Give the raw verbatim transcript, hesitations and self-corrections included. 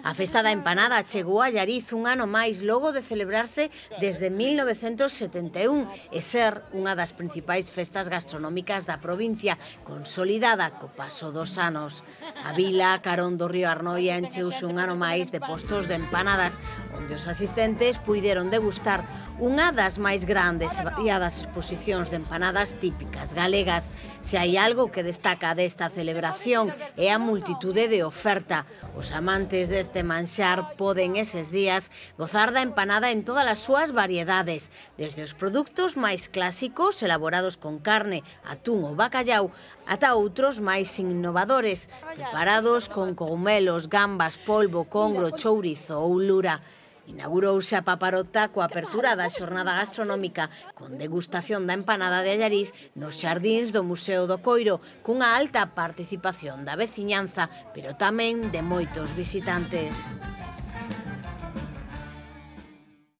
A Festa da Empanada chegou a Allariz un ano máis logo de celebrarse desde mil novecentos setenta e un e ser unha das principais festas gastronómicas da provincia, consolidada co paso dos anos. A vila, carón do río Arnoia, encheuse un ano máis de postos de empanadas, onde os asistentes puideron degustar unha das máis grandes e variadas exposicións de empanadas típicas galegas. Se hai algo que destaca desta celebración é a multitude de oferta. Os amantes deste manxar poden eses días gozar da empanada en todas as súas variedades, desde os produtos máis clásicos elaborados con carne, atún ou bacallau, ata outros máis innovadores, preparados con cogumelos, gambas, polvo, congro, chourizo ou lura. Inaugurouse a paparota coa apertura da xornada gastronómica con degustación da empanada de Allariz nos xardíns do Museo do Coiro, cunha alta participación da veciñanza, pero tamén de moitos visitantes.